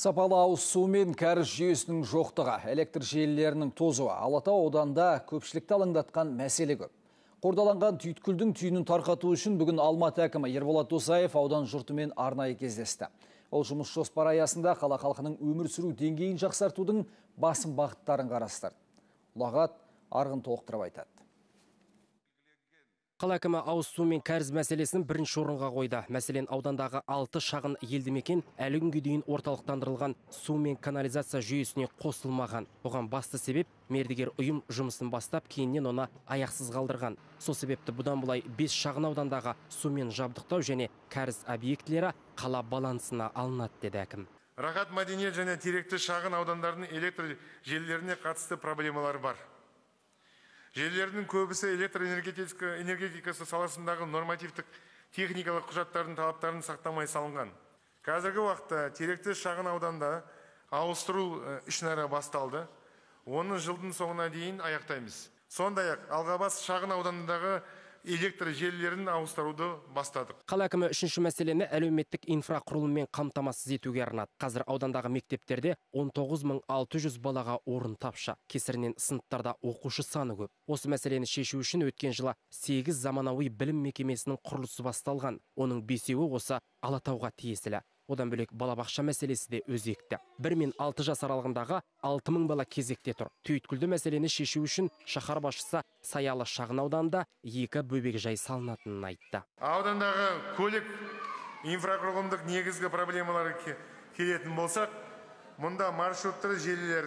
Сапалы ауыз су мен кәріз жүйесінің жоқтығы, электр желілерінің тозуы Алатау ауданында көпшілікті алаңдатқан мәселе көп. Қордаланған түйткілдің түйінін тарқату үшін бүгін Алматы әкімі Ерболат Досаев аудан жұртымен арнайы кездесті. Ол жұмыс жоспары аясында қала халқының өмір сүру деңгейін жақсартудың басым бағыттарын қарастырды. Ұлағат Арғын толықтырып айтады. Қала әкімі ауыз су мен кәріз мәселесін бірінші орынға қойды. Мәселен, аудандағы 6 шағын елді мекен әлі күнге дейін орталықтандырылған су мен канализация жүйесіне қосылмаған. Оған басты себеп мердігер ұйым жұмысын бастап, кейіннен оны аяқсыз қалдырған. Сол себепті бұдан былай 5 шағын аудандағы сумен жабдықтау және кәріз объектілері қала балансына алынады, деді әкім. Рахат, мәдениет және теректі шағын аудандардың электр желілеріне қатысты проблемалар бар. Желілердің көбісі электр энергетикасы саласындағы нормативтік техникалық құжаттардың талаптарын сақтамай салынған. Қазіргі уақытта теректі шағын ауданда ауыстыру ішінара басталды. Оны жылдың соңына дейін аяқтаймыз. Сондай-ақ Алғабас шағын ауданындағы электр желілерін ауыстыруды бастадық. Қала әкімі үшінші мәселені әлеуметтік инфрақұрылыммен қамтамасыз етуге арнады. Қазір аудандағы мектептерде 19.600 балаға орын тапшы. Кесірінен сыныптарда оқушы саны көп. Осы мәселені шешу үшін өткен жылы 8 заманауи білім мекемесінің құрылысы басталған. Оның 5-еуі осы Алатауға тиесілі. Одан бөлек балабақша мәселесі де өзекті. 1 мен 6 жас аралығындағы 6000 бала кезекте тұр. Түйткілді мәселені шешу үшін шаһар басшысы Саялы шағын ауданында 2 бөбекжай салынатынын айтты. Аудандағы көлік инфрақұрылымдық негізгі проблемалары келетін болсақ, мұнда маршруттар желілер,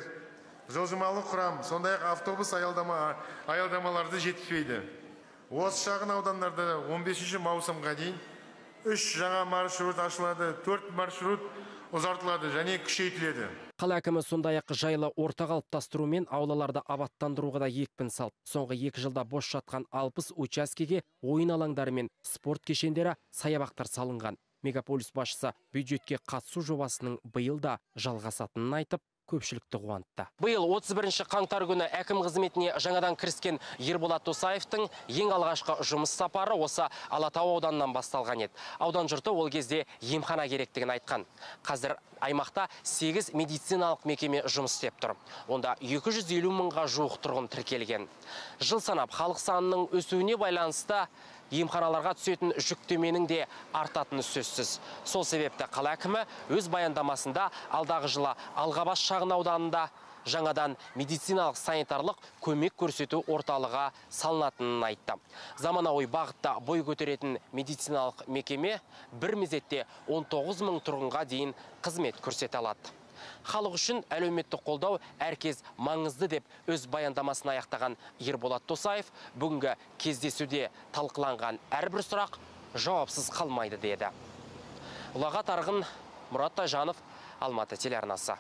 жылжымалы құрам, сондай-ақ автобус аялдамаларды жетіспейді. Осы шағын аудандарда 15 маусымға дейін 3 жаңа маршрут ашылады, 4 маршрут ұзартылады және күшейтіледі. Қала әкімі сондай-ақ жайлы орта қалыптастыру мен аулаларды абаттандыруға да екпін салды. Соңғы 2 жылда бос жатқан 60 учаскеге ойын алаңдары мен спорт кешендері, саябақтар салынған. Мегаполис басшысы бюджетке қатысу жобасының биыл да жалғасатынын айтып, көпшілікті қуантты. Биыл 31 қаңтар күні әкім қызметіне жаңадан кіріскен Ерболат Досаевтың ең алғашқы жұмыс сапары осы Алатау ауданынан басталған еді. Аудан жұрты ол кезде емхана керектігін айтқан. Қазір аймақта 8 медициналық мекеме жұмыс істеп тұр. Онда 250 мыңға жуық тұрғын тіркелген. Жыл санап халық санының өсуіне байланысты емханаларға түсетін жүктеменің де артатыны сөзсіз. Сол себепті қала әкімі өз баяндамасында алдағы жылы Алғабас шағын ауданында жаңадан медициналық санитарлық көмек көрсету орталығы салынатынын айтты. Заманауи бағытта бой көтеретін медициналық мекеме бір мезетте 19 мың тұрғынға дейін қызмет көрсете алады. Халық үшін әлеуметтік қолдау әркез маңызды деп өз баяндамасын аяқтаған Ерболат Досаев бүгінгі кездесуде талқыланған әрбір сұрақ жауапсыз қалмайды деді. Ұлағат Арғын, Мұрат Тайжанов, Алматы телеарнасы.